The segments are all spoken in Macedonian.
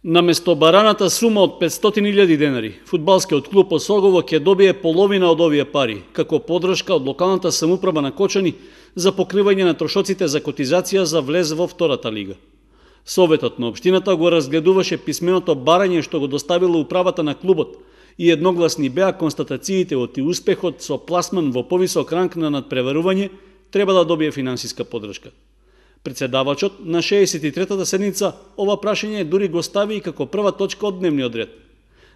Наместо бараната сума од 500.000 денари, фудбалскиот клуб Осогово ќе добие половина од овие пари, како подршка од локалната самоуправа на Кочани за покривање на трошоците за котизација за влез во втората лига. Советот на општината го разгледуваше писменото барање што го доставила управата на клубот и едногласни беа констатациите од успехот со пласман во повисок ранг на надпреварување треба да добие финансиска подршка. Председавачот на 63-та седница ова прашање дури го стави и како прва точка од дневниот ред.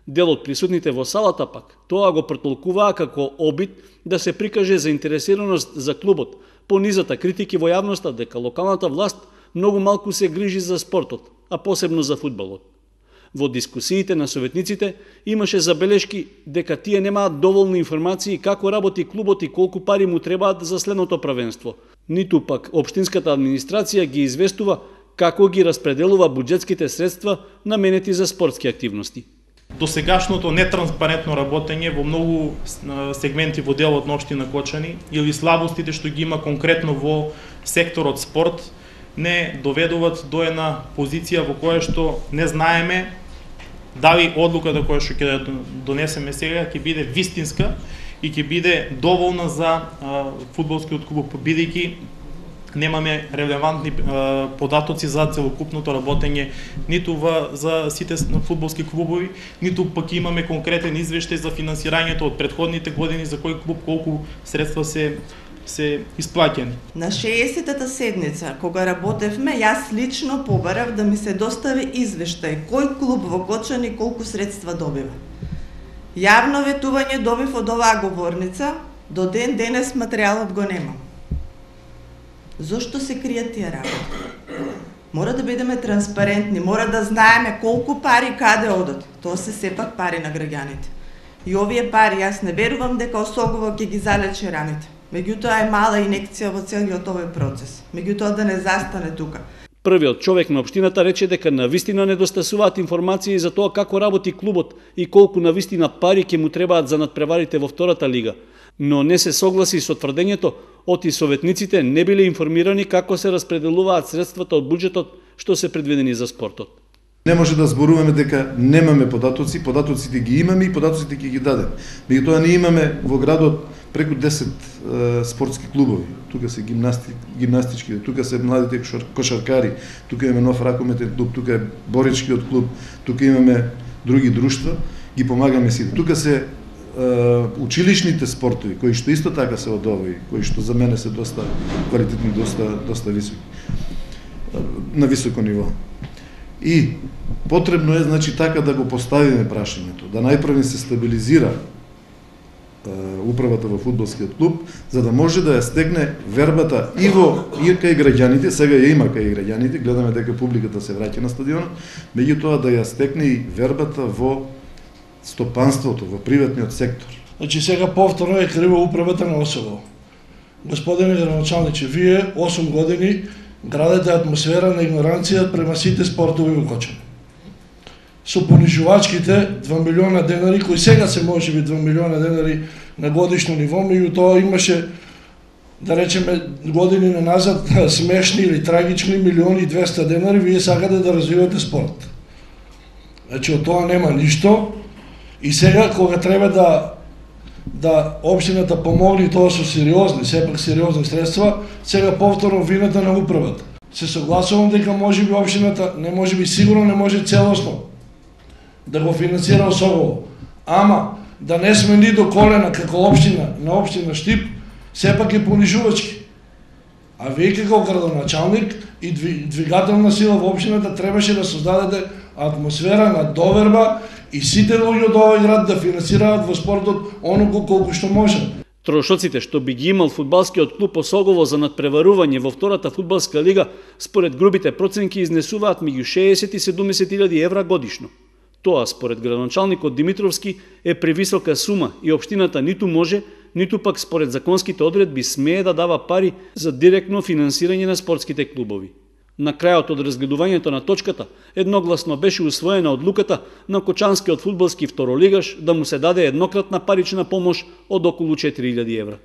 Дел од присутните во салата пак тоа го претолкуваа како обид да се прикаже заинтересираност за клубот, по низата критики во јавноста дека локалната власт многу малку се грижи за спортот, а посебно за фудбалот. Во дискусиите на советниците имаше забелешки дека тие немаат доволно информации како работи клубот и колку пари му требаат за следното првенство. Ниту пак општинската администрација ги известува како ги распределува буџетските средства наменети за спортски активности. Досегашното нетранспарентно работење во многу сегменти во делот на општина Кочани или слабостите што ги има конкретно во секторот спорт не доведуваат до една позиција во која што не знаеме дали одлуката која што ќе донесеме сега ќе биде вистинска и ќе биде доволна за фудбалскиот клуб, бидејќи немаме релевантни податоци за целокупното работење ниту за сите фудбалски клубови, ниту пак имаме конкретен извештај за финансирањето од претходните години за кој клуб колку средства се исплаќени. На 60-та седница, кога работевме, јас лично побарав да ми се достави извештај кој клуб во Кочани колку средства добива. Јавно ветување добив од оваа говорница, до ден денес материјалот го нема. Зошто се кријат тие работи? Мора да бидеме транспарентни, мора да знаеме колку пари каде одат. Тоа се сепак пари на граѓаните. И овие пари, јас не верувам дека Осогово ќе ги залечи раните. Меѓутоа е мала инекција во целиот овој процес. Меѓутоа да не застане тука. Првиот човек на општината рече дека навистина недостасуваат информации за тоа како работи клубот и колку навистина пари ќе му требаат за надпреварите во втората лига, но не се согласи со тврдењето оти советниците не биле информирани како се распределуваат средствата од буџетот што се предвидени за спортот. Не може да зборуваме дека немаме податоци, податоците ги имаме и податоците ќе ги дадеме. Меѓутоа ние имаме во градот преку 10 спортски клубови. Тука се гимнастички, тука се младите кошаркари, тука имаме нов ракометен клуб, тука е боричкиот клуб, тука имаме други друштва, ги помагаме сите. Тука се училишните спортови, кои што исто така се од овој, кои што за мене се доста квалитетни, доста високи, на високо ниво. И потребно е, значи, така да го поставиме прашањето, да најпрво се стабилизира управата во фудбалскиот клуб, за да може да ја стегне вербата и кај граѓаните, сега ја има кај граѓаните, гледаме дека публиката се враќа на стадионот, меѓутоа да ја стегне и вербата во стопанството, во приватниот сектор. Значи сега повторно е крива управата на Осогово. Господине градоначалниче, вие 8 години градете атмосфера на игноранција према сите спортови во Кочани. Со понижувачките 2 милиона денари, кои сега се може би 2 милиона денари на годишно ниво, меѓутоа имаше, да речеме, години назад смешни или трагични 1.200.000 денари, вие сакате да развивате спорт. Значи од тоа нема ништо и сега кога треба да општината помогне тоа со сериозни, сепак сериозни средства, сега повторно вината на управата. Се согласувам дека можеби општината, не можеби сигурно не може целосно да го финансира Осогово, ама да не сме ни до колена како општина на општина Штип, сепак е понижувачки. А вие како градоначалник и двигателна сила во општината требаше да создадете атмосфера на доверба и сите луѓе од овој град да финансираат во спортот оноку колку што може. Трошоците што би ги имал фудбалскиот клуб Осогово за надпреварување во втората фудбалска лига, според грубите проценки изнесуваат меѓу 60 и 70.000 евра годишно. Тоа, според градоначалникот Димитровски, е превисока сума и општината ниту може, ниту пак според законските одредби смее да дава пари за директно финансирање на спортските клубови. На крајот од разгледувањето на точката, едногласно беше усвоена одлуката на кочанскиот фудбалски второлигаш да му се даде еднократна парична помош од околу 4.000 евра.